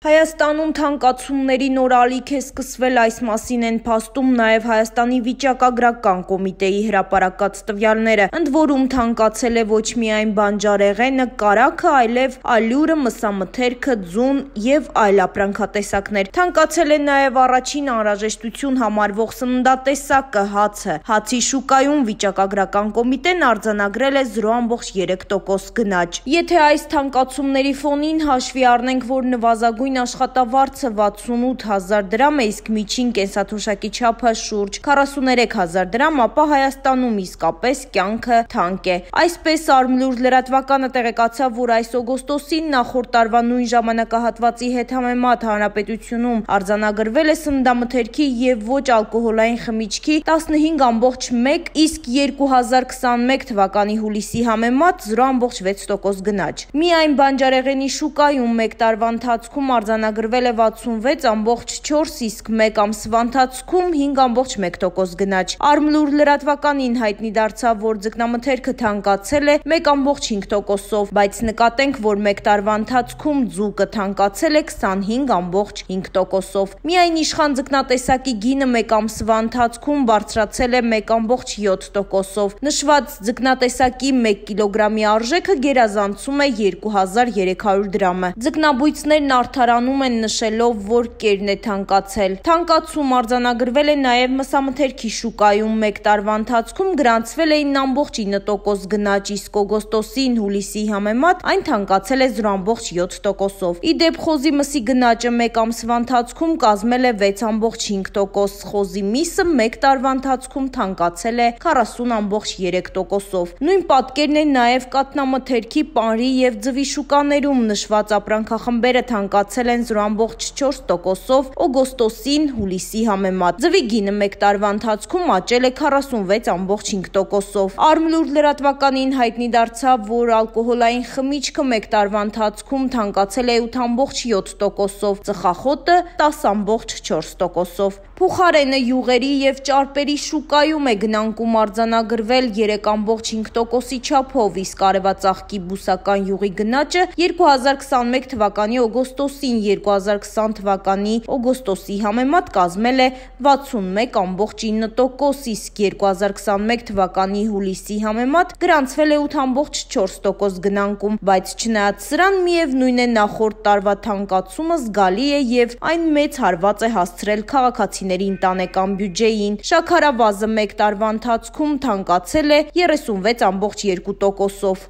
Հայաստանում թանկացումների նոր ալիք է սկսվել, այս մասին են փաստում նաև Հայաստանի վիճակագրական կոմիտեի հրապարակած տվյալները, ընդ որում թանկացել է ոչ միայն բանջարեղենը, կարագը, այլև ալյուրը, մսամթերքը, ձուն եւ այլ ապրանքատեսակներ։ Թանկացել է նաև առաջին անհրաժեշտություն համարվող սննդատեսակը՝ հացը։ Հացի շուկայում վիճակագրական կոմիտեն արձանագրել է 0.3% գնաճ։ Եթե այս թանկացումների ֆոնին հաշվի առնենք, որ նվազագույն աշխատավարձը 68,000 դրամ է, իսկ միջին կենսաթոշակի չափը շուրջ 43,000 դրամ, ապա Հայաստանում իսկապես կյանքը թանկ է։ Այսպես Արմլուր լրատվականը տեղեկացավ, որ այս օգոստոսին նախորդ տարվա նույն ժամանակահատվածի հետ համեմատ հանրապետությունում արձանագրվել է սննդամթերքի եւ ոչ ալկոհոլային խմիչքի 15,1, իսկ 2021 թվականի հուլիսի համեմատ 0.6% գնաճ։ Միայն բանջարեղենի շուկայում մեկ տարվա ընթացքում արձանագրվել է 66,4, իսկ մեկ ամսվա ընթացքում 5.1% գնաճ։ Արմլուր լրատվականին հայտնի դարձավ, որ ձկնամթերքը թանկացել է 1.5%-ով, բայց նկատենք, որ մեկ տարվա ընթացքում ձուկը թանկացել է 25.5%-ով։ Միայն իշխան ձկնատեսակի գինը մեկ ամսվա ընթացքում բարձրացել է 1.7%-ով։ Նշված ձկնատեսակի 1 կիլոգրամի արժեքը գերազանցում է 2300 դրամը։ Ձկնաբույծներն արդարանում են նշելով, որ կերն է թանկացել։ Թանկացում արձանագրվել է նաև մսամթերքի շուկայում, մեկ տարվա ընթացքում գրանցվել է 9.9% գնաճ, իսկ օգոստոսին հուլիսի համեմատ այն թանկացել է 0.7%-ով։ Ի դեպ, խոզի մսի գնաճը մեկ ամսվա ընթացքում կազմել է 6.5%, խոզի միսը մեկ տարվա ընթացքում թանկացել է 40.3%-ով։ Նույն պատկերն է նաև կաթնամթերքի, պանրի եւ ձվի շուկաներում, նշված ապրանքախմբերը թանկացել են 0.4%-ով օգոստոսին հուլիսի համեմատ։ Ձվի գինը մեկ տարվա ընթացքում աճել է 46.5%-ով։ Արմլուր լրատվականին հայտնի դարձավ, որ ալկոհոլային խմիչքը մեկ տարվա ընթացքում թանկացել է 8.7%-ով, ծխախոտը 10.4%-ով։ Փուխարենը յուղերի եւ ճարպերի շուկայում է գնանկում արձանագրվել 3.5%-ի չափով, իսկ արևածաղկի բուսական յուղի գնաճը 2021 թվականի օգոստոսին 2020 թվականի օգոստոսի համեմատ կազմել է 61.9%, իսկ 2021 թվականի հուլիսի համեմատ գրանցվել է 8.4% գնանկում, բայց չնայած սրան միևնույն է նախորդ տարվա թանկացումը զգալի է եւ այն մեծ հարված է հասցրել քաղաքացիների ընտանեկան բյուջեին։ Շաքարավազը մեկ տարվա ընթացքում թանկացել է 36.2%-ով։